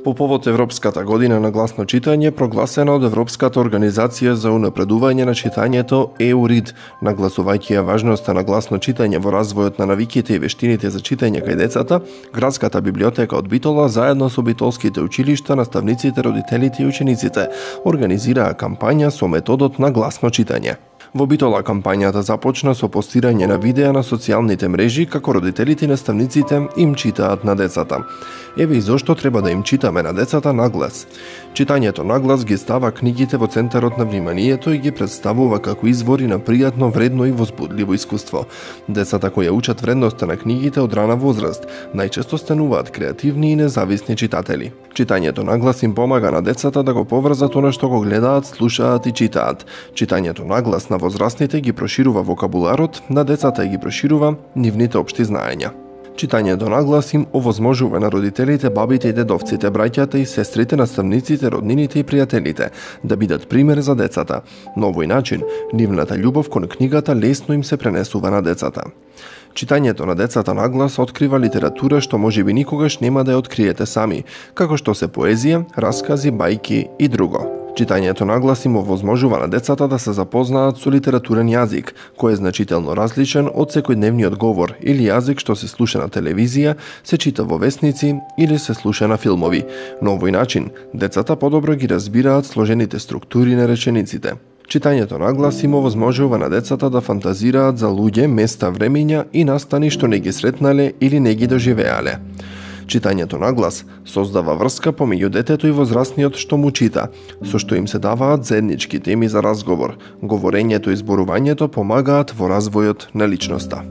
По повод Европската година на гласно читање, прогласена од Европската организација за унапредување на читањето EUREAD, нагласувајќи ја важноста на гласно читање во развојот на навиките и вештините за читање кај децата, Градската библиотека од Битола заедно со битолските училишта, наставниците, родителите и учениците организираа кампања со методот на гласно читање. Во Битола кампањата започна со постирање на видеа на социјалните мрежи како родителите и наставниците им читаат на децата. Еве и зошто треба да им читаме на децата на глас. Читањето на глас ги става книгите во центарот на вниманието и ги представува како извори на пријатно, вредно и возбудливо искуство. Децата кои ја учат вредноста на книгите од рана возраст, најчесто стануваат креативни и независни читатели. Читањето на глас им помага на децата да го поврзат она што го гледаат, слушаат и читаат. Читањето на глас на возрастните ги проширува вокабуларот, на децата ги проширува нивните општи знаења. Читањето на глас им овозможува на родителите, бабите и дедовците, браќата и сестрите, наставниците, роднините и пријателите да бидат пример за децата. На овој начин, нивната љубов кон книгата лесно им се пренесува на децата. Читањето на децата на глас открива литература што можеби никогаш нема да ја откриете сами, како што се поезија, раскази, бајки и друго. Читањето на глас им овозможува на децата да се запознаат со литературен јазик, кој е значително различен од секојдневниот говор или јазик што се слуша на телевизија, се чита во весници или се слуша на филмови. На овој начин, децата подобро ги разбираат сложените структури на речениците. Читањето на глас им овозможува на децата да фантазираат за луѓе, места, времења и настани што не ги сретнале или не ги доживеале. Читањето на глас создава врска помеѓу детето и возрастниот што му чита, со што им се даваат заеднички теми за разговор. Говорењето и зборувањето помагаат во развојот на личноста.